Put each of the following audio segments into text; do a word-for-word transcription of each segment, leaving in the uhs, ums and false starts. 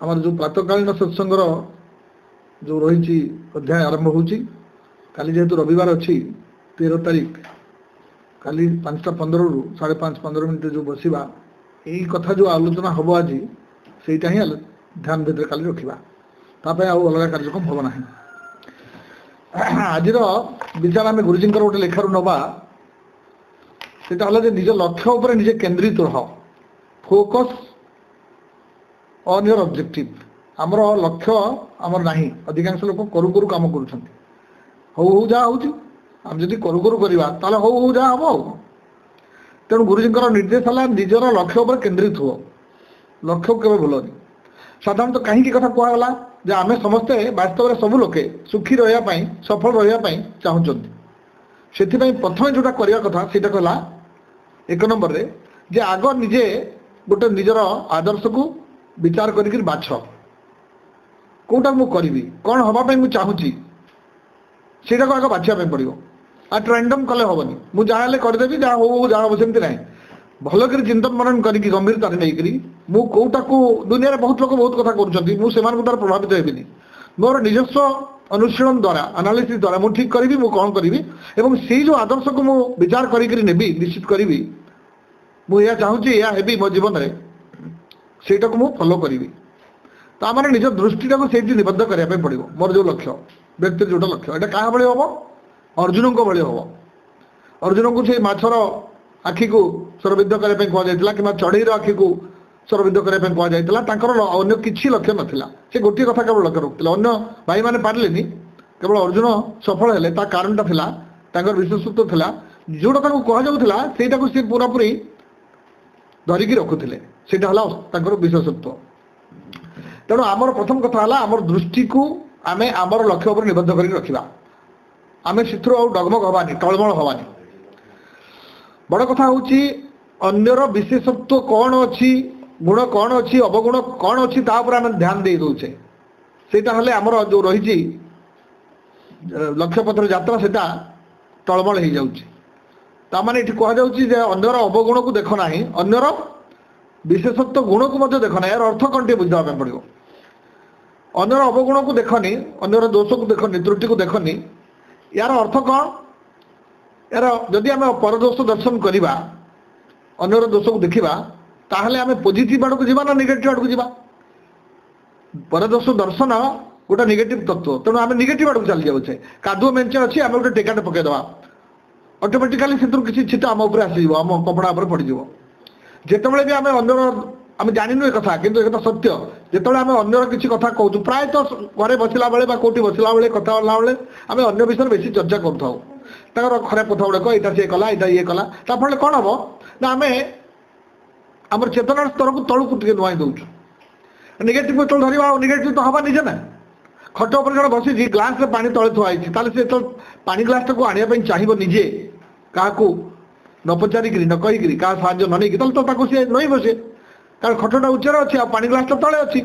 ଆମର ଯେଉଁ ପ୍ରାତଃକାଳୀନ ସତ୍ସଙ୍ଗର ଯେଉଁ ରହିଛି ଅଧ୍ୟାୟ ଆରମ୍ଭ ହେଉଛି। କାଲି ଯେହେତୁ ରବିବାର ଅଛି ତେର ତାରିଖ, କାଲି ପାଞ୍ଚଟା ପନ୍ଦରରୁ ସାଢ଼େ ପାଞ୍ଚ ପନ୍ଦର ମିନିଟ୍ ଯେଉଁ ବସିବା, ଏଇ କଥା ଯେଉଁ ଆଲୋଚନା ହେବ ଆଜି, ସେଇଟା ହିଁ ଧ୍ୟାନ ଭିତରେ କାଲି ରଖିବା। ତା ପାଇଁ ଆଉ ଅଲଗା କାର୍ଯ୍ୟକ୍ରମ ହେବ ନାହିଁ। ଆଜିର ବିଚାର ଆମେ ଗୁରୁଜୀଙ୍କର ଗୋଟେ ଲେଖାରୁ ନେବା। ସେଇଟା ହେଲା ଯେ ନିଜ ଲକ୍ଷ୍ୟ ଉପରେ ନିଜେ କେନ୍ଦ୍ରିତ ରହ, ଫୋକସ୍ ଅନ୍ your objective. ଆମର ଲକ୍ଷ୍ୟ ଆମର ନାହିଁ। ଅଧିକାଂଶ ଲୋକ କରୁ କରୁ କାମ କରୁଛନ୍ତି, ହଉ ହଉ ଯାହା ହେଉଛି। ଆମେ ଯଦି କରୁ କରୁ କରିବା ତାହେଲେ ହଉ ହଉ ଯାହା ହେବ ଆଉ। ତେଣୁ ଗୁରୁଜୀଙ୍କର ନିର୍ଦ୍ଦେଶ ହେଲା ନିଜର ଲକ୍ଷ୍ୟ ଉପରେ କେନ୍ଦ୍ରିତ ହୁଅ, ଲକ୍ଷ୍ୟକୁ କେବେ ଭୁଲନି। ସାଧାରଣତଃ କାହିଁକି କଥା କୁହାଗଲା ଯେ ଆମେ ସମସ୍ତେ ବାସ୍ତବରେ ସବୁ ଲୋକେ ସୁଖୀ ରହିବା ପାଇଁ, ସଫଳ ରହିବା ପାଇଁ ଚାହୁଁଛନ୍ତି। ସେଥିପାଇଁ ପ୍ରଥମେ ଯେଉଁଟା କରିବା କଥା ସେଇଟା ହେଲା ଏକ ନମ୍ବରରେ ଯେ ଆଗ ନିଜେ ଗୋଟେ ନିଜର ଆଦର୍ଶକୁ ବିଚାର କରିକିରି ବାଛ, କେଉଁଟା ମୁଁ କରିବି, କ'ଣ ହେବା ପାଇଁ ମୁଁ ଚାହୁଁଛି, ସେଇଟାକୁ ଆଗ ବାଛିବା ପାଇଁ ପଡ଼ିବ। ଆଟ୍ ରାଣ୍ଡମ୍ କଲେ ହେବନି, ମୁଁ ଯାହା ହେଲେ କରିଦେବି, ଯାହା ହଉ ହଉ ଯାହା ହେବ ସେମିତି ନାହିଁ। ଭଲ କରି ଚିନ୍ତନ ମନନ କରିକି ଗମ୍ଭୀରତାରେ ନେଇକରି ମୁଁ କେଉଁଟାକୁ, ଦୁନିଆରେ ବହୁତ ଲୋକ ବହୁତ କଥା କରୁଛନ୍ତି, ମୁଁ ସେମାନଙ୍କ ଦ୍ୱାରା ପ୍ରଭାବିତ ହେବିନି। ମୋର ନିଜସ୍ୱ ଅନୁଶୀଳନ ଦ୍ୱାରା, ଆନାଲିସିସ୍ ଦ୍ୱାରା ମୁଁ ଠିକ୍ କରିବି ମୁଁ କ'ଣ କରିବି, ଏବଂ ସେଇ ଯେଉଁ ଆଦର୍ଶକୁ ମୁଁ ବିଚାର କରିକିରି ନେବି, ନିଶ୍ଚିତ କରିବି ମୁଁ ଏହା ଚାହୁଁଛି, ଏହା ହେବି ମୋ ଜୀବନରେ, ସେଇଟାକୁ ମୁଁ ଫଲୋ କରିବି। ତା ମାନେ ନିଜ ଦୃଷ୍ଟିଟାକୁ ସେଇଠି ନିବଦ୍ଧ କରିବା ପାଇଁ ପଡ଼ିବ। ମୋର ଯେଉଁ ଲକ୍ଷ୍ୟ, ବ୍ୟକ୍ତିର ଯେଉଁଟା ଲକ୍ଷ୍ୟ, ଏଇଟା କାହା ଭଳି ହେବ? ଅର୍ଜୁନଙ୍କ ଭଳି ହେବ। ଅର୍ଜୁନଙ୍କୁ ସେଇ ମାଛର ଆଖିକୁ ଶରବିଦ୍ଧ କରିବା ପାଇଁ କୁହାଯାଇଥିଲା କିମ୍ବା ଚଢ଼େଇର ଆଖିକୁ ଶରବିଦ୍ଧ କରିବା ପାଇଁ କୁହାଯାଇଥିଲା। ତାଙ୍କର ଅନ୍ୟ କିଛି ଲକ୍ଷ୍ୟ ନଥିଲା, ସେ ଗୋଟିଏ କଥା କେବଳ ଲକ୍ଷ୍ୟ ରଖୁଥିଲେ। ଅନ୍ୟ ଭାଇମାନେ ପାରିଲେନି, କେବଳ ଅର୍ଜୁନ ସଫଳ ହେଲେ। ତା କାରଣଟା ଥିଲା ତାଙ୍କର ବିଶେଷତ୍ୱ ଥିଲା, ଯେଉଁଟା ତାଙ୍କୁ କୁହାଯାଉଥିଲା ସେଇଟାକୁ ସେ ପୁରାପୁରି ଧରିକି ରଖୁଥିଲେ, ସେଇଟା ହେଲା ତାଙ୍କର ବିଶେଷତ୍ୱ। ତେଣୁ ଆମର ପ୍ରଥମ କଥା ହେଲା ଆମର ଦୃଷ୍ଟିକୁ ଆମେ ଆମର ଲକ୍ଷ୍ୟ ଉପରେ ନିବଦ୍ଧ କରିକି ରଖିବା। ଆମେ ସେଥିରୁ ଆଉ ଡଗମଗ ହେବାନି, ଟଳମଳ ହେବାନି। ବଡ଼ କଥା ହେଉଛି ଅନ୍ୟର ବିଶେଷତ୍ୱ କ'ଣ ଅଛି, ଗୁଣ କ'ଣ ଅଛି, ଅବଗୁଣ କ'ଣ ଅଛି, ତା ଉପରେ ଆମେ ଧ୍ୟାନ ଦେଇ ଦେଉଛେ। ସେଇଟା ହେଲେ ଆମର ଯେଉଁ ରହିଛି ଲକ୍ଷ୍ୟପଥର ଯାତ୍ରା, ସେଇଟା ଟଳମଳ ହେଇଯାଉଛି। ତାମାନେ ଏଠି କୁହାଯାଉଛି ଯେ ଅନ୍ୟର ଅବଗୁଣକୁ ଦେଖ ନାହିଁ, ଅନ୍ୟର ବିଶେଷତ୍ୱ ଗୁଣକୁ ମଧ୍ୟ ଦେଖ ନାହିଁ। ଏହାର ଅର୍ଥ କ'ଣ ଟିକେ ବୁଝିବା ପାଇଁ ପଡ଼ିବ। ଅନ୍ୟର ଅବଗୁଣକୁ ଦେଖନି, ଅନ୍ୟର ଦୋଷକୁ ଦେଖନି, ତ୍ରୁଟିକୁ ଦେଖନି, ଏହାର ଅର୍ଥ କ'ଣ? ଏହାର ଯଦି ଆମେ ପରଦୋଷ ଦର୍ଶନ କରିବା, ଅନ୍ୟର ଦୋଷକୁ ଦେଖିବା, ତାହେଲେ ଆମେ ପଜିଟିଭ୍ ଆଡ଼କୁ ଯିବା ନା ନେଗେଟିଭ୍ ଆଡ଼କୁ ଯିବା? ପରଦୋଷ ଦର୍ଶନ ଗୋଟେ ନେଗେଟିଭ୍ ତତ୍ତ୍ୱ, ତେଣୁ ଆମେ ନେଗେଟିଭ୍ ଆଡ଼କୁ ଚାଲି ଯାଉଛେ। କାଦୁଅ ମେଞ୍ଚେ ଅଛି, ଆମେ ଗୋଟେ ଟେକାଟେ ପକେଇଦେବା, ଅଟୋମେଟିକାଲି ସେଥିରୁ କିଛି ଛିଟା ଆମ ଉପରେ ଆସିଯିବ, ଆମ କପଡ଼ା ଉପରେ ପଡ଼ିଯିବ। ଯେତେବେଳେ ବି ଆମେ ଅନ୍ୟର, ଆମେ ଜାଣିନୁ ଏ କଥା, କିନ୍ତୁ ଏ କଥା ସତ୍ୟ, ଯେତେବେଳେ ଆମେ ଅନ୍ୟର କିଛି କଥା କହୁଛୁ, ପ୍ରାୟତଃ ଘରେ ବସିଲା ବେଳେ ବା କେଉଁଠି ବସିଲା ବେଳେ କଥା ହେଲା ବେଳେ ଆମେ ଅନ୍ୟ ବିଷୟରେ ବେଶୀ ଚର୍ଚ୍ଚା କରୁଥାଉ, ତାଙ୍କର ଖରାପ କଥା ଗୁଡ଼ିକ, ଏଇଟା ସିଏ କଲା, ଏଇଟା ଇଏ କଲା। ତା ଫଳରେ କ'ଣ ହେବ ନା ଆମେ ଆମର ଚେତନାର ସ୍ତରକୁ ତଳକୁ ଟିକେ ନୁଆଇଁ ଦେଉଛୁ। ନେଗେଟିଭ୍ ଯେତେବେଳେ ଧରିବା, ଆଉ ନେଗେଟିଭ୍ ତ ହେବା ନିଜେ ନା। ଖଟ ଉପରେ ଜଣେ ବସିଛି, ଗ୍ଲାସରେ ପାଣି ତଳେ ଥୁଆ ହେଇଛି, ତାହେଲେ ସେ ଯେତେବେଳେ ପାଣି ଗ୍ଲାସଟାକୁ ଆଣିବା ପାଇଁ ଚାହିଁବ ନିଜେ, କାହାକୁ ନ ପଚାରିକିରି, ନ କହିକିରି, କାହା ସାହାଯ୍ୟ ନ ନେଇକି, ତାହେଲେ ତ ତାକୁ ସିଏ ନଇଁବ ସେ, କାରଣ ଖଟଟା ଉଚ୍ଚରେ ଅଛି ଆଉ ପାଣି ଗ୍ଲାସଟା ତଳେ ଅଛି,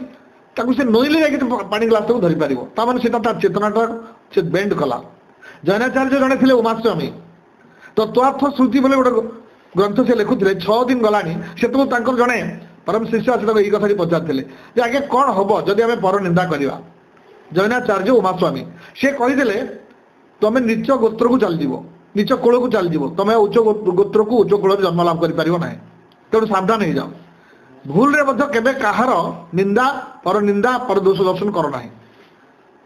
ତାକୁ ସେ ନଇଁଲେ ଯାଇକି ପାଣି ଗ୍ଲାସଟାକୁ ଧରିପାରିବ। ତା ମାନେ ସେଇଟା ତାର ଚେତନାଟା ସେ ବେଣ୍ଡ କଲା। ଜୈନାଚାର୍ଯ୍ୟ ଜଣେ ଥିଲେ ଉମାସ୍ୱାମୀ, ତତ୍ତ୍ୱାର୍ଥ ଶ୍ରୁତି ବୋଲି ଗୋଟେ ଗ୍ରନ୍ଥ ସେ ଲେଖୁଥିଲେ। ଛଅ ଦିନ ଗଲାଣି, ସେତେବେଳେ ତାଙ୍କର ଜଣେ ପରମ ଶିଷ୍ୟ ଆସି ତାଙ୍କୁ ଏଇ କଥାଟି ପଚାରିଥିଲେ ଯେ ଆଜ୍ଞା କ'ଣ ହବ ଯଦି ଆମେ ପର ନିନ୍ଦା କରିବା? ଜୈନାଚାର୍ଯ୍ୟ ଉମାସ୍ୱାମୀ ସେ କହିଦେଲେ, ତମେ ନିଚ ଗୋତ୍ରକୁ ଚାଲିଯିବ, ନିଚ କୂଳକୁ ଚାଲିଯିବ, ତମେ ଉଚ୍ଚ ଗୋତ୍ରକୁ ଉଚ୍ଚ କୂଳରେ ଜନ୍ମ ଲାଭ କରିପାରିବ ନାହିଁ, ତେଣୁ ସାବଧାନ ହେଇଯାଅ। ଭୁଲରେ ମଧ୍ୟ କେବେ କାହାର ନିନ୍ଦା, ପର ନିନ୍ଦା, ପର ଦୋଷ ଦର୍ଶନ କର ନାହିଁ,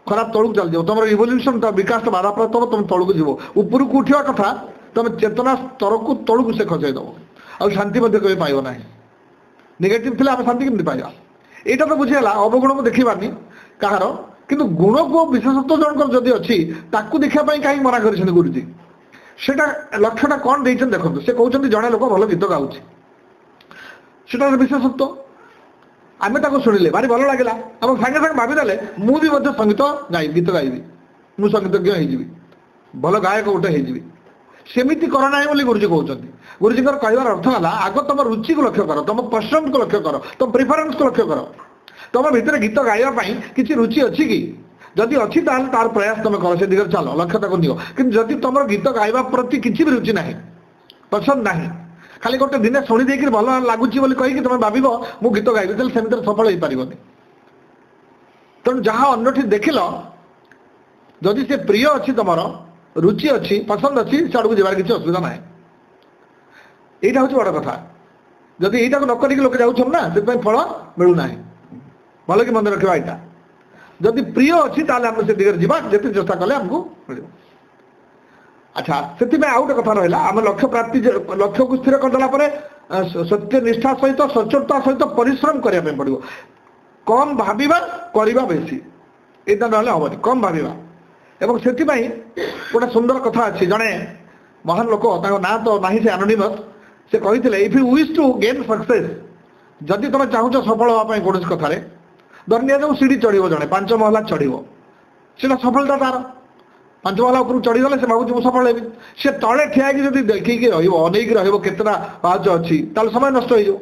ଖରାପ ତଳକୁ ଚାଲିଯିବ, ତମର ଇଭଲ୍ୟୁସନ୍ ତା ବିକାଶଟା ବାଧାପ୍ରାପ୍ତ ହେବ, ତମେ ତଳକୁ ଯିବ। ଉପରକୁ ଉଠିବା କଥା ତମେ ଚେତନା ସ୍ତରକୁ ତଳକୁ ସେ ଖସାଇ ଦେବ, ଆଉ ଶାନ୍ତି ମଧ୍ୟ କେବେ ପାଇବ ନାହିଁ। ନେଗେଟିଭ୍ ଥିଲେ ଆମେ ଶାନ୍ତି କେମିତି ପାଇବା? ଏଇଟା ତ ବୁଝିହେଲା, ଅବଗୁଣକୁ ଦେଖିବାନି କାହାର, କିନ୍ତୁ ଗୁଣକୁ ବିଶେଷତ୍ୱ ଜଣଙ୍କର ଯଦି ଅଛି ତାକୁ ଦେଖିବା ପାଇଁ କାହିଁକି ମନା କରିଛନ୍ତି ଗୁରୁଜୀ? ସେଇଟା ଲକ୍ଷ୍ୟଟା କ'ଣ ଦେଇଛନ୍ତି ଦେଖନ୍ତୁ। ସେ କହୁଛନ୍ତି ଜଣେ ଲୋକ ଭଲ ଗୀତ ଗାଉଛି, ସେଟା ବିଶେଷତ୍ୱ, ଆମେ ତାକୁ ଶୁଣିଲେ ଭାରି ଭଲ ଲାଗିଲା, ଏବଂ ସାଙ୍ଗେ ସାଙ୍ଗେ ଭାବିଦେଲେ ମୁଁ ବି ମଧ୍ୟ ସଙ୍ଗୀତ ଗାଇବି, ଗୀତ ଗାଇବି, ମୁଁ ସଙ୍ଗୀତଜ୍ଞ ହେଇଯିବି, ଭଲ ଗାୟକ ଗୋଟେ ହେଇଯିବି। ସେମିତି କର ନାହିଁ ବୋଲି ଗୁରୁଜୀ କହୁଛନ୍ତି। ଗୁରୁଜୀଙ୍କର କହିବାର ଅର୍ଥ ହେଲା ଆଗ ତମ ରୁଚିକୁ ଲକ୍ଷ୍ୟ କର, ତମ ପସନ୍ଦକୁ ଲକ୍ଷ୍ୟ କର, ତମ ପ୍ରିଫରେନ୍ସକୁ ଲକ୍ଷ୍ୟ କର। ତମ ଭିତରେ ଗୀତ ଗାଇବା ପାଇଁ କିଛି ରୁଚି ଅଛି କି? ଯଦି ଅଛି ତାହେଲେ ତାର ପ୍ରୟାସ ତମେ କର, ସେ ଦିଗରେ ଚାଲ, ଲକ୍ଷ୍ୟତାକୁ ନିଅ। କିନ୍ତୁ ଯଦି ତମର ଗୀତ ଗାଇବା ପ୍ରତି କିଛି ବି ରୁଚି ନାହିଁ, ପସନ୍ଦ ନାହିଁ, ଖାଲି ଗୋଟେ ଦିନେ ଶୁଣି ଦେଇକିରି ଭଲ ଲାଗୁଛି ବୋଲି କହିକି ତମେ ଭାବିବ ମୁଁ ଗୀତ ଗାଇବି, ତାହେଲେ ସେମିତିରେ ସଫଳ ହେଇପାରିବନି। ତେଣୁ ଯାହା ଅନ୍ୟଠି ଦେଖିଲ, ଯଦି ସେ ପ୍ରିୟ ଅଛି, ତମର ରୁଚି ଅଛି, ପସନ୍ଦ ଅଛି, ସେ ଆଡ଼କୁ ଯିବାର କିଛି ଅସୁବିଧା ନାହିଁ। ଏଇଟା ହେଉଛି ବଡ଼ କଥା। ଯଦି ଏଇଟାକୁ ନ କରିକି ଲୋକେ ଯାଉଛନ୍ତି ନା, ସେଥିପାଇଁ ଫଳ ମିଳୁନାହିଁ। ଭଲ କି ମନେ ରଖିବା ଏଇଟା। ଯଦି ପ୍ରିୟ ଅଛି, ତାହେଲେ ଆମେ ସେ ଦିଗରେ ଯିବା, ଯେତେ ଚେଷ୍ଟା କଲେ ଆମକୁ ମିଳିବ। ଆଚ୍ଛା, ସେଥିପାଇଁ ଆଉ ଗୋଟେ କଥା ରହିଲା। ଆମେ ଲକ୍ଷ୍ୟ ପ୍ରାପ୍ତି, ଲକ୍ଷ୍ୟକୁ ସ୍ଥିର କରିଦେଲା ପରେ ସତ୍ୟ ନିଷ୍ଠା ସହିତ, ସଚ୍ଚୋଟତା ସହିତ ପରିଶ୍ରମ କରିବା ପାଇଁ ପଡ଼ିବ। କମ୍ ଭାବିବା, କରିବା ବେଶୀ, ଏଇଟା ନହେଲେ ହବନି। କମ୍ ଭାବିବା। ଏବଂ ସେଥିପାଇଁ ଗୋଟେ ସୁନ୍ଦର କଥା ଅଛି। ଜଣେ ମହାନ ଲୋକ, ତାଙ୍କ ନାଁ ତ ନାହିଁ, ସେ ଆନୋନିମସ୍, ସେ କହିଥିଲେ, "If you wish to gain success", ଯଦି ତମେ ଚାହୁଁଛ ସଫଳ ହେବା ପାଇଁ କୌଣସି କଥାରେ, ଧରି ନିଆଯାଉ ସିଡ଼ି ଚଢ଼ିବ ଜଣେ, ପାଞ୍ଚ ମହଲା ଚଢ଼ିବ, ସେଇଟା ସଫଳତା ତାର। ପାଞ୍ଚ ମହଲା ଉପରକୁ ଚଢ଼ିଗଲେ ସେ ଭାବୁଛି ମୁଁ ସଫଳ ହେବି। ସେ ତଳେ ଠିଆ ହେଇକି ଯଦି ଦେଖିକି ରହିବ, ଅନେଇକି ରହିବ କେତେଟା ପାହାଚ ଅଛି, ତାହେଲେ ସମୟ ନଷ୍ଟ ହେଇଯିବ।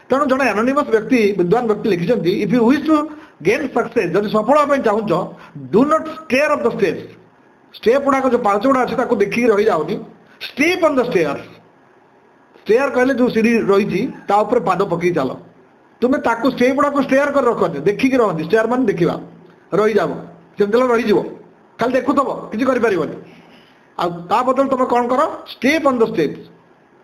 ତେଣୁ ଜଣେ ଆନୋନିମସ୍ ବ୍ୟକ୍ତି, ବିଦ୍ୱାନ ବ୍ୟକ୍ତି ଲେଖିଛନ୍ତି, "If you wish to gain success", ଯଦି ସଫଳ ହେବା ପାଇଁ ଚାହୁଁଛ, "do not stare of the steps", step ଗୁଡ଼ାକ, ଯେଉଁ ପାହାଚ ଗୁଡ଼ା ଅଛି, ତାକୁ ଦେଖିକି ରହିଯାଉନି। "Step on the stairs." Stair କହିଲେ ଯେଉଁ ସିଡ଼ି ରହିଛି, ତା ଉପରେ ପାଦ ପକେଇ ଚାଲ। ତୁମେ ତାକୁ ଷ୍ଟେପ୍ ଗୁଡ଼ାକୁ ଷ୍ଟେୟାର କରି ରଖନି, ଦେଖିକି ରହନ୍ତି। ଷ୍ଟେୟାର ମାନେ ଦେଖିବା, ରହିଯାବ, ସେମିତି ହେଲେ ରହିଯିବ, ଖାଲି ଦେଖୁଥିବ, କିଛି କରିପାରିବନି। ଆଉ ତା ବଦଳରେ ତମେ କ'ଣ କର? Step on the step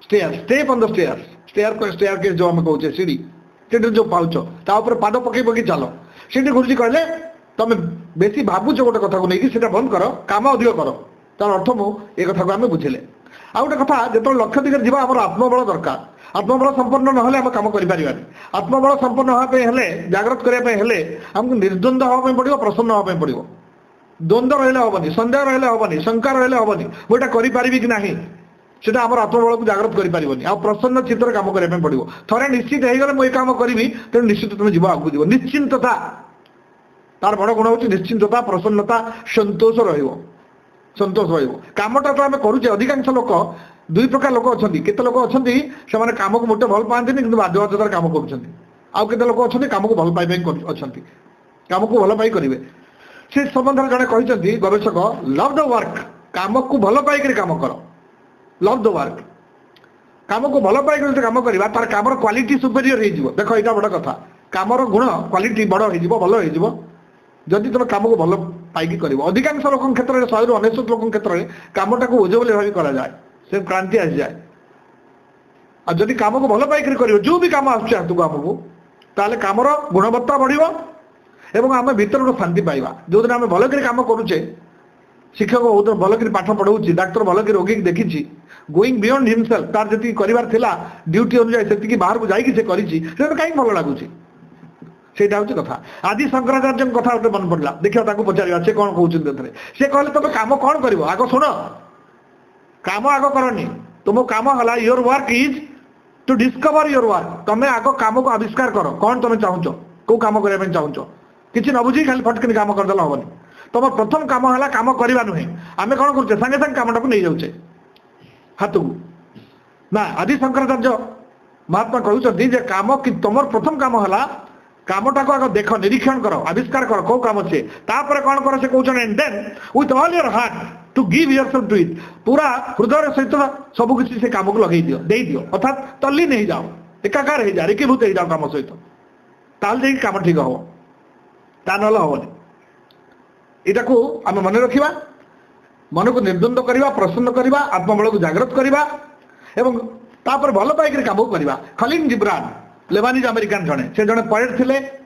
stair, step on the stair stair stair case ଯେଉଁ ଆମେ କହୁଛେ ସିଡ଼ି, ସେଠି ଯେଉଁ ପାଉଛ, ତା ଉପରେ ପାଦ ପକେଇ ପକେଇ ଚାଲ। ସେଠି ଗୁରୁଜୀ କହିଲେ, ତମେ ବେଶୀ ଭାବୁଛ ଗୋଟେ କଥାକୁ ନେଇକି, ସେଟା ବନ୍ଦ କର, କାମ ଅଧିକ କର। ତାର ଅର୍ଥ ମୁଁ ଏ କଥାକୁ ଆମେ ବୁଝିଲେ। ଆଉ ଗୋଟେ କଥା, ଯେତେବେଳେ ଲକ୍ଷ୍ୟ ଦିଗରେ ଯିବା, ଆମର ଆତ୍ମବଳ ଦରକାର। ଆତ୍ମବଳ ସମ୍ପନ୍ନ ନହେଲେ ଆମେ କାମ କରିପାରିବାନି। ଆତ୍ମବଳ ସମ୍ପନ୍ନ ହେବା ପାଇଁ ହେଲେ, ଜାଗ୍ରତ କରିବା ପାଇଁ ହେଲେ, ଆମକୁ ନିର୍ଦ୍ୱନ୍ଦ ହେବା ପାଇଁ ପଡ଼ିବ, ପ୍ରସନ୍ନ ହେବା ପାଇଁ ପଡ଼ିବ। ଦ୍ୱନ୍ଦ୍ୱ ରହିଲେ ହବନି, ସନ୍ଦେହ ରହିଲେ ହବନି, ଶଙ୍କା ରହିଲେ ହବନି, ମୁଁ ଏଇଟା କରିପାରିବି କି ନାହିଁ। ସେଟା ଆମର ଆତ୍ମବଳକୁ ଜାଗ୍ରତ କରିପାରିବନି। ଆଉ ପ୍ରସନ୍ନ ଚିତ୍ତରେ କାମ କରିବା ପାଇଁ ପଡ଼ିବ। ଥରେ ନିଶ୍ଚିତ ହେଇଗଲେ ମୁଁ ଏ କାମ କରିବି, ତେଣୁ ନିଶ୍ଚିତ ତୁମେ ଯିବ, ଆଗକୁ ଯିବ। ନିଶ୍ଚିନ୍ତତା, ତାର ବଡ଼ ଗୁଣ ହେଉଛି ନିଶ୍ଚିନ୍ତତା, ପ୍ରସନ୍ନତା, ସନ୍ତୋଷ ରହିବ, ସନ୍ତୋଷ ରହିବ। କାମଟା ତ ଆମେ କରୁଛେ। ଅଧିକାଂଶ ଲୋକ, ଦୁଇ ପ୍ରକାର ଲୋକ ଅଛନ୍ତି। କେତେ ଲୋକ ଅଛନ୍ତି, ସେମାନେ କାମକୁ ମୋଟେ ଭଲ ପାଆନ୍ତିନି, କିନ୍ତୁ ବାଧ୍ୟବାଧକତାରେ କାମ କରୁଛନ୍ତି। ଆଉ କେତେ ଲୋକ ଅଛନ୍ତି, କାମକୁ ଭଲ ପାଇବା ପାଇଁ ଅଛନ୍ତି, କାମକୁ ଭଲ ପାଇ କରିବେ। ସେ ସମ୍ବନ୍ଧରେ ଜଣେ କହିଛନ୍ତି ଗବେଷକ, "Love the work." କାମକୁ ଭଲ ପାଇକରି କାମ କର। Love the work. କାମକୁ ଭଲ ପାଇକରି ଯଦି କାମ କରିବା, ତାର କାମର କ୍ୱାଲିଟି ସୁପେରିୟର ହେଇଯିବ। ଦେଖ, ଏଇଟା ବଡ଼ କଥା। କାମର ଗୁଣ, କ୍ୱାଲିଟି ବଡ଼ ହେଇଯିବ, ଭଲ ହେଇଯିବ, ଯଦି ତୁମେ କାମକୁ ଭଲ ପାଇକି କରିବ। ଅଧିକାଂଶ ଲୋକଙ୍କ କ୍ଷେତ୍ରରେ, ଶହେରୁ ଅନେଶତ ଲୋକଙ୍କ କ୍ଷେତ୍ରରେ କାମଟାକୁ ବୋଝ ବୋଲି ଭାବି କରାଯାଏ, ସେ କ୍ଳାନ୍ତି ଆସିଯାଏ। ଆଉ ଯଦି କାମକୁ ଭଲ ପାଇକରି କରିବ, ଯେଉଁ ବି କାମ ଆସୁଛି ହାତକୁ ଆମକୁ, ତାହେଲେ କାମର ଗୁଣବତ୍ତା ବଢ଼ିବ ଏବଂ ଆମେ ଭିତରେ ଗୋଟେ ଶାନ୍ତି ପାଇବା। ଯେଉଁଦିନ ଆମେ ଭଲ କରି କାମ କରୁଛେ, ଶିକ୍ଷକ ବହୁତ ଭଲ କରି ପାଠ ପଢ଼ଉଛି, ଡାକ୍ତର ଭଲ କରି ରୋଗୀକି ଦେଖିଛି, ଗୋଇଂ ବିୟଣ୍ଡ ହିମସେଲ୍ଫ, ତାର ଯେତିକି କରିବାର ଥିଲା ଡ୍ୟୁଟି ଅନୁଯାୟୀ, ସେତିକି ବାହାରକୁ ଯାଇକି ସେ କରିଛି, ସେଟା କାହିଁକି ଭଲ ଲାଗୁଛି? ସେଇଟା ହେଉଛି କଥା। ଆଦି ଶଙ୍କରାଚାର୍ଯ୍ୟଙ୍କ କଥା ଗୋଟେ ମନେ ପଡ଼ିଲା। ଦେଖିବା, ତାକୁ ପଚାରିବା ସେ କ'ଣ କହୁଛନ୍ତି ଏଥିରେ। ସେ କହିଲେ, ତମେ କାମ କ'ଣ କରିବ ଆଗ ଶୁଣ। କାମ ଆଗ କରନି। ତୁମ କାମ ହେଲା, your work is to discover your work. ତମେ ଆଗ କାମକୁ ଆବିଷ୍କାର କର। କ'ଣ ତମେ ଚାହୁଁଛ, କୋଉ କାମ କରିବା ପାଇଁ ଚାହୁଁଛ? କିଛି ନ ବୁଝି ଖାଲି ଫଟକିନି କାମ କରିଦେଲେ ହବନି। ତମ ପ୍ରଥମ କାମ ହେଲା କାମ କରିବା ନୁହେଁ। ଆମେ କ'ଣ କରୁଛେ? ସାଙ୍ଗେ ସାଙ୍ଗେ କାମଟାକୁ ନେଇଯାଉଛେ ହାତକୁ। ନା, ଆଦି ଶଙ୍କରାଚାର୍ଯ୍ୟ ମହାତ୍ମା କହୁଛନ୍ତି ଯେ କାମ ତମର ପ୍ରଥମ କାମ ହେଲା କାମଟାକୁ ଆଗ ଦେଖ, ନିରୀକ୍ଷଣ କର, ଆବିଷ୍କାର କର କୋଉ କାମ ସେ। ତାପରେ କ'ଣ କର? ସେ କହୁଛନ୍ତି, "And then with all your heart to give yourself to it." ପୁରା ହୃଦୟର ସହିତ ସବୁ କିଛି ସେ କାମକୁ ଲଗେଇ ଦିଅ, ଦେଇଦିଅ, ଅର୍ଥାତ୍ ତଲ୍ଲୀନ ହେଇଯାଅ, ଏକାକାର ହେଇଯାଅ, ଏକୀଭୂତ ହେଇଯାଅ କାମ ସହିତ। ତାହେଲେ ଯାଇକି କାମ ଠିକ ହବ, ତା ନହେଲେ ହବନି। ଏଇଟାକୁ ଆମେ ମନେ ରଖିବା। ମନକୁ ନିର୍ଦ୍ୱନ୍ଦ କରିବା, ପ୍ରସନ୍ନ କରିବା, ଆତ୍ମବଳକୁ ଜାଗ୍ରତ କରିବା ଏବଂ ତାପରେ ଭଲ ପାଇକରି କାମକୁ କରିବା। ଖଲିଲ ଜିବ୍ରାନ, ଲେବାନିଜ ଆମେରିକାନ ଜଣେ, ସେ ଜଣେ ପଏଟ୍ ଥିଲେ,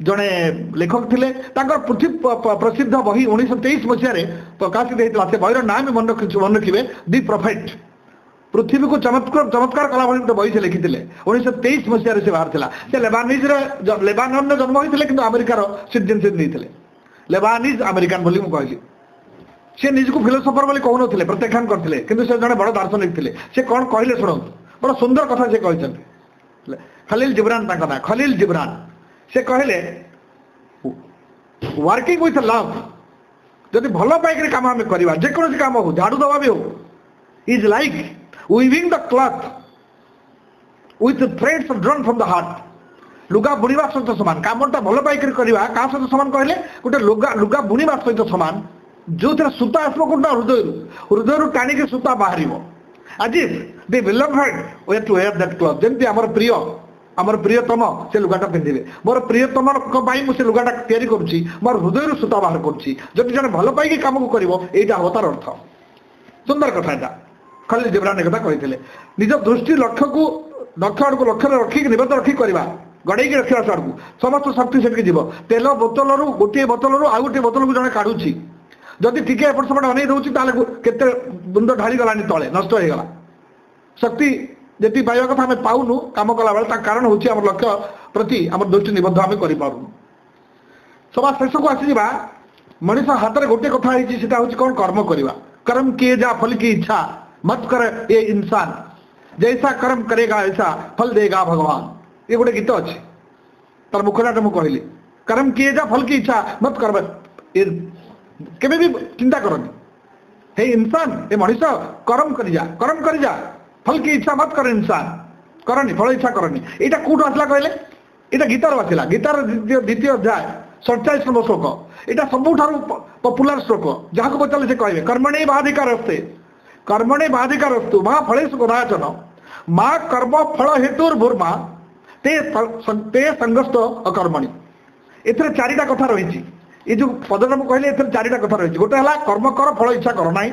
ଜଣେ ଲେଖକ ଥିଲେ। ତାଙ୍କର ପୃଥିବୀ ପ୍ରସିଦ୍ଧ ବହି ଉଣେଇଶହ ତେଇଶ ମସିହାରେ ପ୍ରକାଶିତ ହେଇଥିଲା। ସେ ବହିର ନାଁ ବି ମନେ ରଖି ମନେ ରଖିବେ, ଦି ପ୍ରଫେଟ୍। ପୃଥିବୀକୁ ଚମତ୍କାର ଚମତ୍କାର କଲା ଭଳି ଗୋଟେ ବହି ସେ ଲେଖିଥିଲେ। ଉଣେଇଶହ ତେଇଶ ମସିହାରେ ସେ ବାହାରିଥିଲା। ସେ ଲେବାନିଜରେ, ଲେବାନନରେ ଜନ୍ମ ହୋଇଥିଲେ, କିନ୍ତୁ ଆମେରିକାର ସିଟିଜେନସିପ୍ ନେଇଥିଲେ। ଲେବାନିଜ ଆମେରିକାନ ବୋଲି ମୁଁ କହିଲି। ସେ ନିଜକୁ ଫିଲୋସଫର ବୋଲି କହୁନଥିଲେ, ପ୍ରତ୍ୟାଖ୍ୟାନ କରିଥିଲେ, କିନ୍ତୁ ସେ ଜଣେ ବଡ଼ ଦାର୍ଶନିକ ଥିଲେ। ସେ କ'ଣ କହିଲେ ଶୁଣନ୍ତୁ। ବଡ଼ ସୁନ୍ଦର କଥା ସେ କହିଛନ୍ତି। ଖଲିଲ ଜିବ୍ରାନ ତାଙ୍କ ନାଁ, ଖଲିଲ ଜିବ୍ରାନ। ସେ କହିଲେ, ୱାର୍କିଂ ୱିଥ୍ ଲଭ୍, ଯଦି ଭଲ ପାଇକରି କାମ ଆମେ କରିବା, ଯେକୌଣସି କାମ ହଉ, ଝାଡ଼ୁ ଦେବା ବି ହଉ, is like weaving the cloth with threads drawn from the heart. ଲୁଗା ବୁଣିବା ସହିତ ସମାନ। କାମଟା ଭଲ ପାଇକରି କରିବା କାହା ସହିତ ସମାନ କହିଲେ, ଗୋଟେ ଲୁଗା ଲୁଗା ବୁଣିବା ସହିତ ସମାନ, ଯୋଉଥିରେ ସୂତା ଆସିବ କୋଉଠି ନା ହୃଦୟରୁ। ହୃଦୟରୁ ଟାଣିକି ସୂତା ବାହାରିବ। As if the beloved were to wear that cloth. ଯେମିତି ଆମର ପ୍ରିୟ ଆମର ପ୍ରିୟତମ ସେ ଲୁଗାଟା ପିନ୍ଧିବେ। ମୋର ପ୍ରିୟତମଙ୍କ ପାଇଁ ମୁଁ ସେ ଲୁଗାଟା ତିଆରି କରୁଛି, ମୋର ହୃଦୟରୁ ସୂତା ବାହାର କରୁଛି। ଯଦି ଜଣେ ଭଲ ପାଇକି କାମକୁ କରିବ, ଏଇଟା ହବ ତାର ଅର୍ଥ। ସୁନ୍ଦର କଥା ଏଇଟା। ଖଲିଲ ଜିବ୍ରାନ ଏ କଥା କହିଥିଲେ। ନିଜ ଦୃଷ୍ଟି ଲକ୍ଷ୍ୟକୁ ଲକ୍ଷ୍ୟ ଆଡ଼କୁ ଲକ୍ଷ୍ୟରେ ରଖିକି, ନିବଦ୍ଧ ରଖିକି କରିବା, ଗଡ଼େଇକି ରଖିବା, ସେ ଆଡ଼କୁ ସମସ୍ତ ଶକ୍ତି ସେଠିକି ଯିବ। ତେଲ ବୋତଲରୁ, ଗୋଟିଏ ବୋତଲରୁ ଆଉ ଗୋଟିଏ ବୋତଲକୁ ଜଣେ କାଢୁଛି, ଯଦି ଟିକେ ଏପଟ ସେପଟ ଅନେଇ ଦେଉଛି, ତାହେଲେ କେତେ ବୁନ୍ଦ ଢାଳିଗଲାଣି ତଳେ, ନଷ୍ଟ ହେଇଗଲା। ଶକ୍ତି ଯେତିକି ପାଇବା କଥା ଆମେ ପାଉନୁ କାମ କଲାବେଳେ, ତା କାରଣ ହେଉଛି ଆମର ଲକ୍ଷ୍ୟ ପ୍ରତି ଆମର ଦୃଷ୍ଟି ନିବଦ୍ଧ ଆମେ କରିପାରୁନୁ। ସବା ଶେଷକୁ ଆସିଯିବା। ମଣିଷ ହାତରେ ଗୋଟିଏ କଥା ହେଇଛି, ସେଟା ହେଉଛି କ'ଣ? କର୍ମ କରିବା। कर्म किए जा, फल की इच्छा मत कर ए इंसान, जैसा कर्म करेगा ऐसा फल देगा भगवान। ଏ ଗୋଟେ ଗୀତ ଅଛି, ତାର ମୁଖଟାଟା ମୁଁ କହିଲି। कर्म किए जा, फल की इच्छा मत कर। କେବେ ବି ଚିନ୍ତା କରନି। हे इंसान, ଏ ମଣିଷ, କର୍ମ କରିଯା, କର୍ମ କରିଯା, फल की इच्छा मत कर इंसान। କରନି, ଫଳ ଇଚ୍ଛା କରନି। ଏଇଟା କୋଉଠୁ ଆସିଲା କହିଲେ? ଏଇଟା ଗୀତାରୁ ଆସିଲା। ଗୀତାର ଦ୍ୱିତୀୟ ଦ୍ୱିତୀୟ ଅଧ୍ୟାୟ ସଡ଼ଚାଳିଶ ନମ୍ବର ଶ୍ଲୋକ। ଏଇଟା ସବୁଠାରୁ ପପୁଲାର ଶ୍ଲୋକ। ଯାହାକୁ ପଚାରିଲେ ସେ କହିବେ, कर्मण्येवाधिकारस्ते कर्मण्येवाधिकारस्तु मा फलेषु कदाचन मा कर्म फल हेतुर्भूर्मा ते ते सङ्गोऽस्त्वकर्मणि। ଏଥିରେ ଚାରିଟା କଥା ରହିଛି। ଏଇ ଯେଉଁ ପଦଟା ମୁଁ କହିଲି, ଏଥିରେ ଚାରିଟା କଥା ରହିଛି। ଗୋଟେ ହେଲା କର୍ମ କର, ଫଳ ଇଚ୍ଛା କର ନାହିଁ।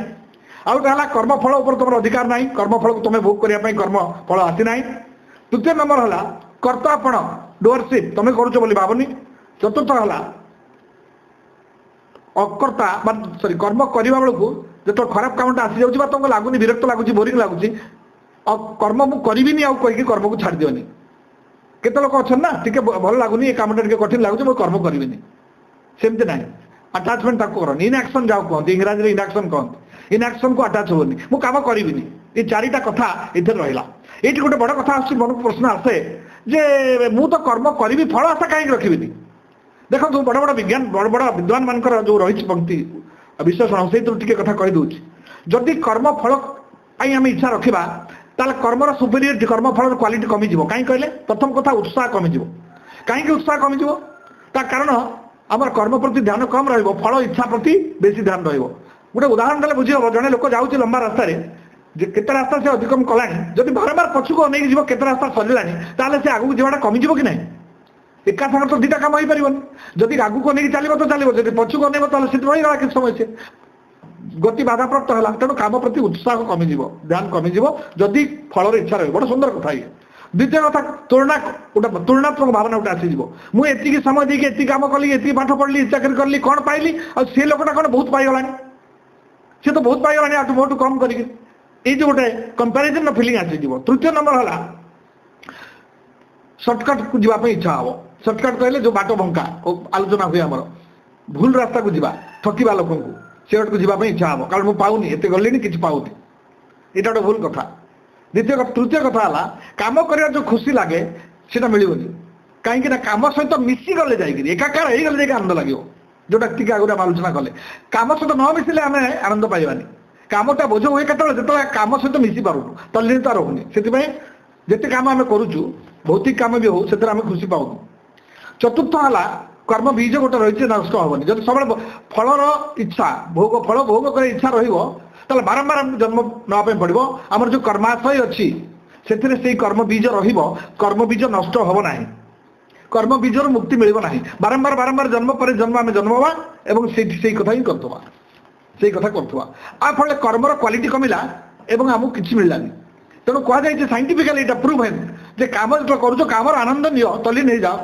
ଆଉ ଗୋଟେ ହେଲା କର୍ମ ଫଳ ଉପରେ ତୁମର ଅଧିକାର ନାହିଁ, କର୍ମ ଫଳକୁ ତୁମେ ଭୋଗ କରିବା ପାଇଁ କର୍ମ ଫଳ ଆସିନାହିଁ। ତୃତୀୟ ନମ୍ବର ହେଲା କର୍ତ୍ତାପଣ, ଡୁଅରସିପ୍, ତମେ କରୁଛ ବୋଲି ଭାବନି। ଚତୁର୍ଥ ହେଲା ଅକର୍ତ୍ତା ବା ସରି, କର୍ମ କରିବା ବେଳକୁ ଯେତେବେଳେ ଖରାପ କାମଟା ଆସିଯାଉଛି ବା ତମକୁ ଲାଗୁନି, ବିରକ୍ତ ଲାଗୁଛି, ବୋରିଂ ଲାଗୁଛି, ଆଉ କର୍ମ ମୁଁ କରିବିନି ଆଉ କହିକି କର୍ମକୁ ଛାଡ଼ି ଦିଅନି। କେତେ ଲୋକ ଅଛନ୍ତି ନା, ଟିକେ ଭଲ ଲାଗୁନି, ଏ କାମଟା ଟିକେ କଠିନ ଲାଗୁଛି, ମୁଁ କର୍ମ କରିବିନି। ସେମିତି ନାହିଁ। ଆଟାଚମେଣ୍ଟ ତାକୁ କରନି। ଇନ୍ଆକ୍ସନ୍ ଯାହାକୁ କହନ୍ତି, ଇଂରାଜୀରେ ଇନ୍ଆକ୍ସନ୍ କହନ୍ତି। ଇନ୍ଆକ୍ସନ୍କୁ ଆଟାଚ୍ ହୁଅନି, ମୁଁ କାମ କରିବିନି। ଏ ଚାରିଟା କଥା ଏଥିରେ ରହିଲା। ଏଇଠି ଗୋଟେ ବଡ଼ କଥା ଆସୁଛି, ମନକୁ ପ୍ରଶ୍ନ ଆସେ ଯେ ମୁଁ ତ କର୍ମ କରିବି, ଫଳ ଆଶା କାହିଁକି ରଖିବିନି? ଦେଖନ୍ତୁ, ବଡ଼ ବଡ଼ ବିଜ୍ଞାନ, ବଡ଼ ବଡ଼ ବିଦ୍ୱାନ ମାନଙ୍କର ଯେଉଁ ରହିଛି ପଙ୍କ୍ତି ବିଶ୍ଳେଷଣ, ସେଇଥିରୁ ଟିକେ କଥା କହିଦେଉଛି। ଯଦି କର୍ମ ଫଳ ପାଇଁ ଆମେ ଇଚ୍ଛା ରଖିବା, ତାହେଲେ କର୍ମର ସୁପିରିୟରିଟି, କର୍ମ ଫଳର କ୍ୱାଲିଟି କମିଯିବ। କାହିଁକି କହିଲେ, ପ୍ରଥମ କଥା ଉତ୍ସାହ କମିଯିବ। କାହିଁକି ଉତ୍ସାହ କମିଯିବ? ତା କାରଣ ଆମର କର୍ମ ପ୍ରତି ଧ୍ୟାନ କମ୍ ରହିବ, ଫଳ ଇଚ୍ଛା ପ୍ରତି ବେଶୀ ଧ୍ୟାନ ରହିବ। ଗୋଟେ ଉଦାହରଣ ଦେଲେ ବୁଝି ହବ। ଜଣେ ଲୋକ ଯାଉଛି ଲମ୍ବା ରାସ୍ତାରେ, ଯେ କେତେ ରାସ୍ତା ସେ ଅତିକ୍ରମ କଲାଣି, ଯଦି ବାରମ୍ବାର ପଛକୁ ଅନେଇକି ଯିବ କେତେ ରାସ୍ତା ସରିଲାଣି, ତାହେଲେ ସେ ଆଗକୁ ଯିବାଟା କମିଯିବ କି ନାହିଁ? ଏକା ସାଙ୍ଗରେ ତ ଦୁଇଟା କାମ ହେଇପାରିବନି। ଯଦି ଆଗକୁ ଅନେଇକି ଚାଲିବ ତ ଚାଲିବ, ଯଦି ପଛକୁ ଅନେଇବ ତାହେଲେ ସେଠି ରହିଗଲା କିଛି ସମୟ, ସେ ଗତି ବାଧାପ୍ରାପ୍ତ ହେଲା। ତେଣୁ କାମ ପ୍ରତି ଉତ୍ସାହ କମିଯିବ, ଧ୍ୟାନ କମିଯିବ ଯଦି ଫଳର ଇଚ୍ଛା ରହିବ। ବଡ଼ ସୁନ୍ଦର କଥା ଇଏ। ଦ୍ୱିତୀୟ କଥା, ତୁଳନା, ଗୋଟେ ତୁଳନାତ୍ମକ ଭାବନା ଗୋଟେ ଆସିଯିବ। ମୁଁ ଏତିକି ସମୟ ଦେଇକି ଏତିକି କାମ କଲି, ଏତିକି ପାଠ ପଢ଼ିଲି, ଚାକିରି କଲି, କ'ଣ ପାଇଲି? ଆଉ ସେ ଲୋକଟା କ'ଣ ବହୁତ ପାଇଗଲାଣି, ସେ ତ ବହୁତ ପାଇଗଲାଣି ଆଠୁ ମୋଠୁ କମ୍ କରିକି। ଏଇ ଯେଉଁ ଗୋଟେ କମ୍ପାରିଜନର ଫିଲିଂ ଆସିଯିବ। ତୃତୀୟ ନମ୍ବର ହେଲା ସର୍ଟକଟ୍କୁ ଯିବା ପାଇଁ ଇଚ୍ଛା ହବ। ସର୍ଟକଟ୍ କହିଲେ ଯେଉଁ ବାଟ ବଙ୍କା ଆଲୋଚନା ହୁଏ ଆମର, ଭୁଲ ରାସ୍ତାକୁ ଯିବା, ଠକିବା ଲୋକଙ୍କୁ, ସେ ବାଟକୁ ଯିବା ପାଇଁ ଇଚ୍ଛା ହବ, କାରଣ ମୁଁ ପାଉନି, ଏତେ ଗଲିଣି କିଛି ପାଉନି। ଏଇଟା ଗୋଟେ ଭୁଲ କଥା। ଦ୍ୱିତୀୟ, ତୃତୀୟ କଥା ହେଲା କାମ କରିବା ଯେଉଁ ଖୁସି ଲାଗେ ସେଇଟା ମିଳିବନି। କାହିଁକି ନା କାମ ସହିତ ମିଶିଗଲେ ଯାଇକିରି, ଏକାକାର ହେଇଗଲେ ଯାଇକି ଆନନ୍ଦ ଲାଗିବ, ଯୋଉଟା ଟିକେ ଆଗରୁ ଆମେ ଆଲୋଚନା କଲେ। କାମ ସହିତ ନ ମିଶିଲେ ଆମେ ଆନନ୍ଦ ପାଇବାନି। କାମଟା ବୋଝ ହୁଏ କେତେବେଳେ? ଯେତେବେଳେ କାମ ସହିତ ମିଶି ପାରୁନୁ, ତଲ୍ଲୀନତା ରହୁନି। ସେଥିପାଇଁ ଯେତେ କାମ ଆମେ କରୁଛୁ, ଭୌତିକ କାମ ବି ହଉ, ସେଥିରେ ଆମେ ଖୁସି ପାଉନୁ। ଚତୁର୍ଥ ହେଲା କର୍ମ ବୀଜ ଗୋଟେ ରହିଛି, ନଷ୍ଟ ହବନି। ଯଦି ସବୁବେଳେ ଫଳର ଇଚ୍ଛା, ଭୋଗ, ଫଳ ଭୋଗ କରିବା ଇଚ୍ଛା ରହିବ, ତାହେଲେ ବାରମ୍ବାର ଆମକୁ ଜନ୍ମ ନେବା ପାଇଁ ପଡ଼ିବ। ଆମର ଯେଉଁ କର୍ମାଶୟ ଅଛି, ସେଥିରେ ସେଇ କର୍ମ ବୀଜ ରହିବ, କର୍ମ ବୀଜ ନଷ୍ଟ ହବ ନାହିଁ, କର୍ମ ବୀଜରୁ ମୁକ୍ତି ମିଳିବ ନାହିଁ। ବାରମ୍ବାର ବାରମ୍ବାର ଜନ୍ମ ପରେ ଜନ୍ମ ଆମେ ଜନ୍ମ ହେବା ଏବଂ ସେଇଠି ସେଇ କଥା ହିଁ କରୁଥିବା, ସେଇ କଥା କରୁଥିବା। ଆ ଫଳରେ କର୍ମର କ୍ୱାଲିଟି କମିଲା ଏବଂ ଆମକୁ କିଛି ମିଳିଲାନି। ତେଣୁ କୁହାଯାଇଛି, ସାଇଣ୍ଟିଫିକାଲି ଏଇଟା ପ୍ରୁଭ୍ ହେନ୍ ଯେ କାମ ଯେତେବେଳେ କରୁଛ, କାମର ଆନନ୍ଦ ନିଅ, ତଲ୍ଲୀନ ହେଇଯାଅ,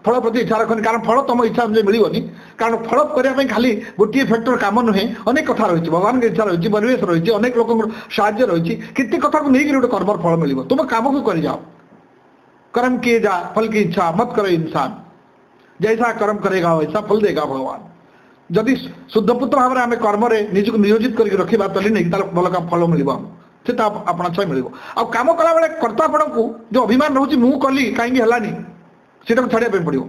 ଫଳ ପ୍ରତି ଇଚ୍ଛା ରଖନି। କାରଣ ଫଳ ତମ ଇଚ୍ଛା ଅନୁଯାୟୀ ମିଳିବନି। କାରଣ ଫଳ କରିବା ପାଇଁ ଖାଲି ଗୋଟିଏ ଫ୍ୟାକ୍ଟର କାମ ନୁହେଁ, ଅନେକ କଥା ରହିଛି। ଭଗବାନଙ୍କ ଇଚ୍ଛା ରହିଛି, ପରିବେଶ ରହିଛି, ଅନେକ ଲୋକଙ୍କର ସାହାଯ୍ୟ ରହିଛି। କେତେ କଥାକୁ ନେଇକରି ଗୋଟେ କର୍ମର ଫଳ ମିଳିବ। ତୁମ କାମକୁ କରିଯାଅ। कर्म किए जा, फल की इच्छा मत करो इंसान, जैसा कर्म करेगा वैसा फल देगा भगवान। ଯଦି ଶୁଦ୍ଧପୁତ୍ର ଭାବରେ ଆମେ କର୍ମରେ ନିଜକୁ ନିୟୋଜିତ କରିକି ରଖିବା, ତଲ୍ଲୀନ ନେଇକି, ତାହେଲେ ଭଲ ଫଳ ମିଳିବ ଆମକୁ, ସେଟା ଆପଣା ଛାଇ ମିଳିବ। ଆଉ କାମ କଲାବେଳେ କର୍ତ୍ତାପଣକୁ ଯେଉଁ ଅଭିମାନ ରହୁଛି, ମୁଁ କଲି କାହିଁକି ହେଲାନି, ସେଇଟାକୁ ଛାଡ଼ିବା ପାଇଁ ପଡ଼ିବ।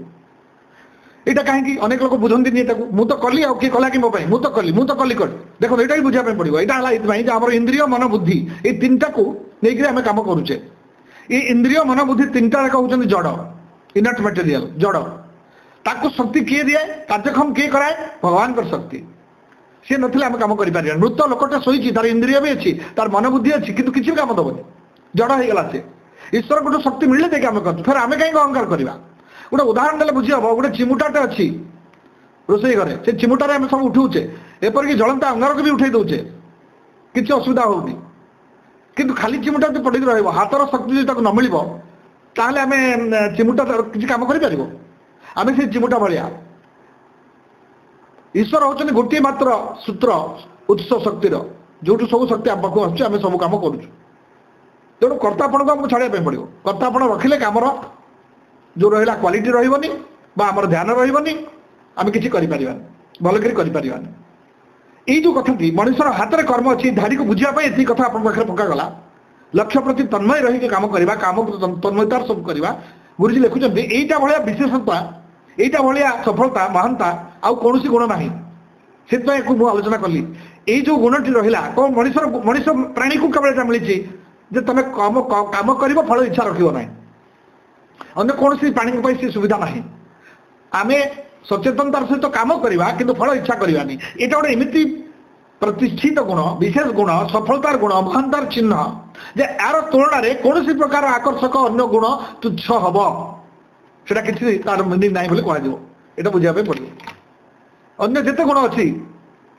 ଏଇଟା କାହିଁକି ଅନେକ ଲୋକ ବୁଝନ୍ତିନି ଏଟାକୁ। ମୁଁ ତ କଲି, ଆଉ କିଏ କଲା କି ମୋ ପାଇଁ? ମୁଁ ତ କଲି, ମୁଁ ତ କଲି କଲି। ଦେଖନ୍ତୁ, ଏଇଟା ବି ବୁଝିବା ପାଇଁ ପଡ଼ିବ। ଏଇଟା ହେଲା ଏଇଥିପାଇଁ ଯେ ଆମର ଇନ୍ଦ୍ରିୟ, ମନ, ବୁଦ୍ଧି, ଏଇ ତିନିଟାକୁ ନେଇକରି ଆମେ କାମ କରୁଛେ। ଏଇ ଇନ୍ଦ୍ରିୟ, ମନ, ବୁଦ୍ଧି ତିନିଟା ଯାକ ହେଉଛନ୍ତି ଜଡ଼, ଇନର୍ଟ ମେଟେରିଆଲ, ଜଡ଼। ତାକୁ ଶକ୍ତି କିଏ ଦିଏ? କାର୍ଯ୍ୟକ୍ଷମ କିଏ କରାଏ? ଭଗବାନଙ୍କର ଶକ୍ତି। ସିଏ ନଥିଲେ ଆମେ କାମ କରିପାରିବାନି। ମୃତ ଲୋକଟା ଶୋଇଛି, ତାର ଇନ୍ଦ୍ରିୟ ବି ଅଛି, ତାର ମନ ବୁଦ୍ଧି ଅଛି, କିନ୍ତୁ କିଛି ବି କାମ ଦେବନି, ଜଡ଼ ହେଇଗଲା ସେ। ଈଶ୍ୱରଙ୍କଠୁ ଶକ୍ତି ମିଳିଲେ ଯାଇକି ଆମେ କରୁଛୁ। ଫେର ଆମେ କାହିଁକି ଅହଙ୍କାର କରିବା? ଗୋଟେ ଉଦାହରଣ ଦେଲେ ବୁଝି ହବ। ଗୋଟେ ଚିମୁଟାଟେ ଅଛି ରୋଷେଇ ଘରେ, ସେ ଚିମୁଟାରେ ଆମେ ସବୁ ଉଠଉଛେ, ଏପରିକି ଜଳନ୍ତା ଅଙ୍ଗାରକୁ ବି ଉଠେଇ ଦଉଛେ, କିଛି ଅସୁବିଧା ହଉନି। କିନ୍ତୁ ଖାଲି ଚିମୁଟା ଯଦି ପଡ଼ିକି ରହିବ, ହାତର ଶକ୍ତି ଯଦି ତାକୁ ନ ମିଳିବ, ତାହେଲେ ଆମେ ଚିମୁଟା କିଛି କାମ କରିପାରିବ? ଆମେ ସେଇ ଚିମୁଟା ଭଳିଆ। ଈଶ୍ୱର ହେଉଛନ୍ତି ଗୋଟିଏ ମାତ୍ର ସୂତ୍ର ଉତ୍ସ ଶକ୍ତିର, ଯୋଉଠୁ ସବୁ ଶକ୍ତି ଆମ ପାଖକୁ ଆସୁଛି, ଆମେ ସବୁ କାମ କରୁଛୁ। ତେଣୁ କର୍ତ୍ତାପଣକୁ ଆମକୁ ଛାଡ଼ିବା ପାଇଁ ପଡ଼ିବ। କର୍ତ୍ତାପଣ ରଖିଲେ କାମର ଯୋଉ ରହିଲା କ୍ୱାଲିଟି ରହିବନି ବା ଆମର ଧ୍ୟାନ ରହିବନି, ଆମେ କିଛି କରିପାରିବାନି, ଭଲ କରି କରିପାରିବାନି। ଏଇ ଯୋଉ କଥାଟି ମଣିଷର ହାତରେ କର୍ମ ଅଛି, ଧାଡ଼ିକୁ ବୁଝିବା ପାଇଁ ଏତିକି କଥା ଆପଣଙ୍କ ପାଖରେ ପକାଗଲା। ଲକ୍ଷ୍ୟ ପ୍ରତି ତନ୍ମୟ ରହିକି କାମ କରିବା, କାମକୁ ତନ୍ମୟତାର ସବୁ କରିବା। ଗୁରୁଜୀ ଲେଖୁଛନ୍ତି ଏଇଟା ଭଳିଆ ବିଶେଷତା, ଏଇଟା ଭଳିଆ ସଫଳତା, ମହାନତା ଆଉ କୌଣସି ଗୁଣ ନାହିଁ। ସେଥିପାଇଁ ୟାକୁ ମୁଁ ଆଲୋଚନା କଲି। ଏଇ ଯୋଉ ଗୁଣଟି ରହିଲା, କଣ ମଣିଷର, ମଣିଷ ପ୍ରାଣୀକୁ କେବଳ ଏଇଟା ମିଳିଛି ଯେ ତମେ କାମ କାମ କରିବ, ଫଳ ଇଚ୍ଛା ରଖିବ ନାହିଁ। ଅନ୍ୟ କୌଣସି ପ୍ରାଣୀଙ୍କ ପାଇଁ ସେ ସୁବିଧା ନାହିଁ। ଆମେ ସଚେତନତାର ସହିତ କାମ କରିବା କିନ୍ତୁ ଫଳ ଇଚ୍ଛା କରିବାନି। ଏଇଟା ଗୋଟେ ଏମିତି ପ୍ରତିଷ୍ଠିତ ଗୁଣ, ବିଶେଷ ଗୁଣ, ସଫଳତାର ଗୁଣ, ମହାନତାର ଚିହ୍ନ ଯେ ଏହାର ତୁଳନାରେ କୌଣସି ପ୍ରକାର ଆକର୍ଷକ ଅନ୍ୟ ଗୁଣ ତୁଚ୍ଛ ହବ, ସେଟା କିଛି ତାର ମିନିଂ ନାହିଁ ବୋଲି କୁହାଯିବ। ଏଇଟା ବୁଝିବା ପାଇଁ ପଡ଼ିବ। ଅନ୍ୟ ଯେତେ ଗୁଣ ଅଛି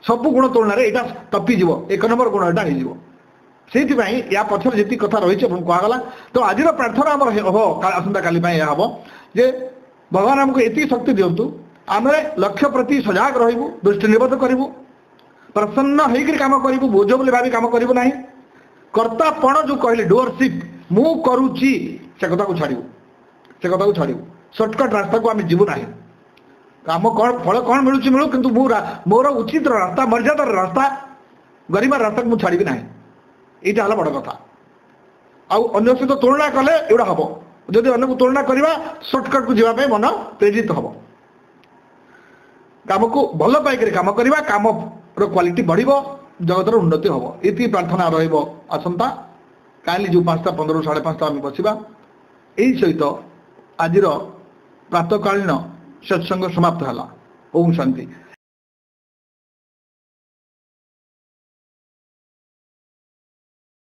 ସବୁ ଗୁଣ ତୁଳନାରେ ଏଇଟା ଟପିଯିବ, ଏକ ନମ୍ବର ଗୁଣ ଏଇଟା ହେଇଯିବ। ସେଇଥିପାଇଁ ୟା ପଛରେ ଯେତିକି କଥା ରହିଛି ଆପଣଙ୍କୁ କୁହାଗଲା। ତ ଆଜିର ପ୍ରାର୍ଥନା ଆମର ହବ ଆସନ୍ତାକାଲି ପାଇଁ ଏହା ହବ ଯେ ଭଗବାନ ଆମକୁ ଏତିକି ଶକ୍ତି ଦିଅନ୍ତୁ, ଆମେ ଲକ୍ଷ୍ୟ ପ୍ରତି ସଜାଗ ରହିବୁ, ଦୃଷ୍ଟି ନିବଦ୍ଧ କରିବୁ, ପ୍ରସନ୍ନ ହେଇକରି କାମ କରିବୁ, ବୋଝ ବୋଲି ଭାବି କାମ କରିବୁ ନାହିଁ। କର୍ତ୍ତାପଣ ଯୋଉ କହିଲେ ଡୁଅରସିପ୍, ମୁଁ କରୁଛି, ସେ କଥାକୁ ଛାଡ଼ିବୁ, ସେ କଥାକୁ ଛାଡ଼ିବୁ। ସର୍ଟକଟ୍ ରାସ୍ତାକୁ ଆମେ ଯିବୁ ନାହିଁ। କାମ କ'ଣ ଫଳ କ'ଣ ମିଳୁଛି ମିଳୁ, କିନ୍ତୁ ମୁଁ ମୋର ଉଚିତର ରାସ୍ତା, ମର୍ଯ୍ୟାଦାର ରାସ୍ତା, ଗରିମାର ରାସ୍ତାକୁ ମୁଁ ଛାଡ଼ିବି ନାହିଁ। ଏଇଟା ହେଲା ବଡ଼ କଥା। ଆଉ ଅନ୍ୟ ସହିତ ତୁଳନା କଲେ ଏଗୁଡ଼ା ହବ। ଯଦି ଅନ୍ୟକୁ ତୁଳନା କରିବା, ସର୍ଟକଟ୍କୁ ଯିବା ପାଇଁ ମନ ପ୍ରେରିତ ହବ। କାମକୁ ଭଲ ପାଇକରି କାମ କରିବା, କାମର କ୍ୱାଲିଟି ବଢ଼ିବ, ଜଗତର ଉନ୍ନତି ହବ। ଏତିକି ପ୍ରାର୍ଥନା ରହିବ। ଆସନ୍ତା କାଲି ଯେଉଁ ପାଞ୍ଚଟା ପନ୍ଦରରୁ ସାଢ଼େ ପାଞ୍ଚଟା ଆମେ ବସିବା। ଏଇ ସହିତ ଆଜିର ପ୍ରାତଃକାଳୀନ ସତ୍ସଙ୍ଗ ସମାପ୍ତ ହେଲା। ଓମ୍ ଶାନ୍ତି।